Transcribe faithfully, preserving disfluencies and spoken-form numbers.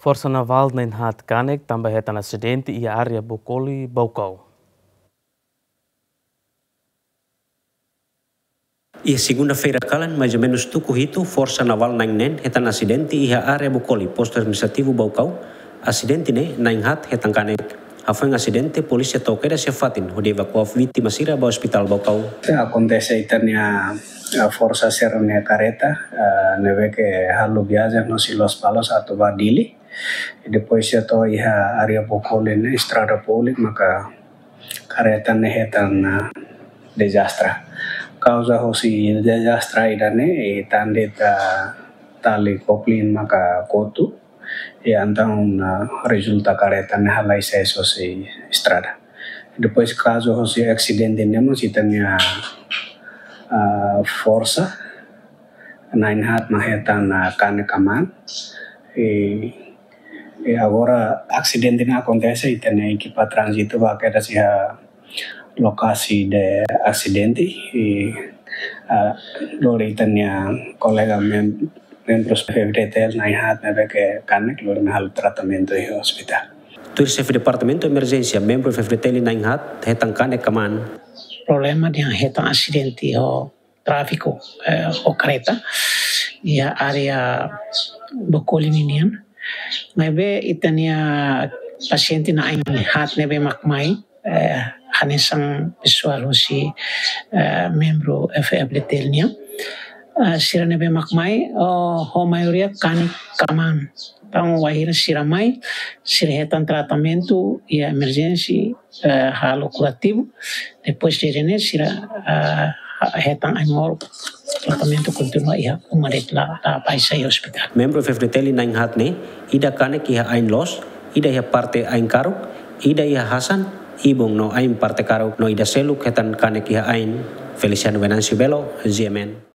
Forsa Navál na'in-haat kanek tanba hetan asidente iha área Bokoli, Baucau. Iha segunda-feira kalan, mais ou menus tuku hitu, Forsa Navál na'in-neen hetan asidente iha área Bokoli, Postu Administrativu Baucau. Asidente ne'e na'in-haat hetan kanek. Hafoin asidente, polísia to'o kedas iha fatin hodi evakua vítima sira ba Ospitál Baucau. Akontese ita-nia, eh, forsa sira-nia kareta, eh, ne'ebé ke halo viajen husi Lospalos atu ba Dili. Depois sira to'o iha área Bokoli ne'e, estrada públika, maka kareta ne'e hetan, ah, dezastre. Kauza husi dezastre ida-ne'e, eh, tanba ita tali koplin maka kotu. I entaun, ah, rezulta kareta ne'e halai sees husi estrada. Depois kazu husi asidente ne'e mós ita-nia, ah, forsa na'in-haat mak hetan, ah, kanek kmaan. I, i agora asidente ne'e akontese, ita-nia ekipa tránzitu ba kedas iha lokasi de asidente. I, ah, lori ita-nia kolega mem-, membrus F-FDTL na'in-haat ne'ebé ke kanek, lori mai halo tratamentu iha ospitál. Tuir Xefe Departamentu Emerjénsia, membru F-FDTL na'in-haat hetan kanek kmaan. Problema dehan hetan asidente ho tráfiku, eh, ho kareta iha área Bokoli ninian. Maibé ita-nia pasiente na'in-haat ne'ebé mak mai, eh, hanesan pesoál husi, eh, membru F-FDTL nian. Eh, sira ne'ebé mak mai, oh, ho maioria kanek kmaan. Entaun, wainhira sira mai, sira hetan tratamentu iha emerjénsia, eh, halo kurativu. Depois de ne'e sira, eh, hetan ai-moruk, tratamentu kontinua iha uma de'it, la, la baixa iha ospitál. Membru F-FDTL na'in-haat ne'e, ida kanek iha ain loos, ida iha parte ain karuk, ida iha hasan, ibun no ain parte karuk, no ida seluk hetan kanek iha ain. Feliciano Venâncio Belo, G M N.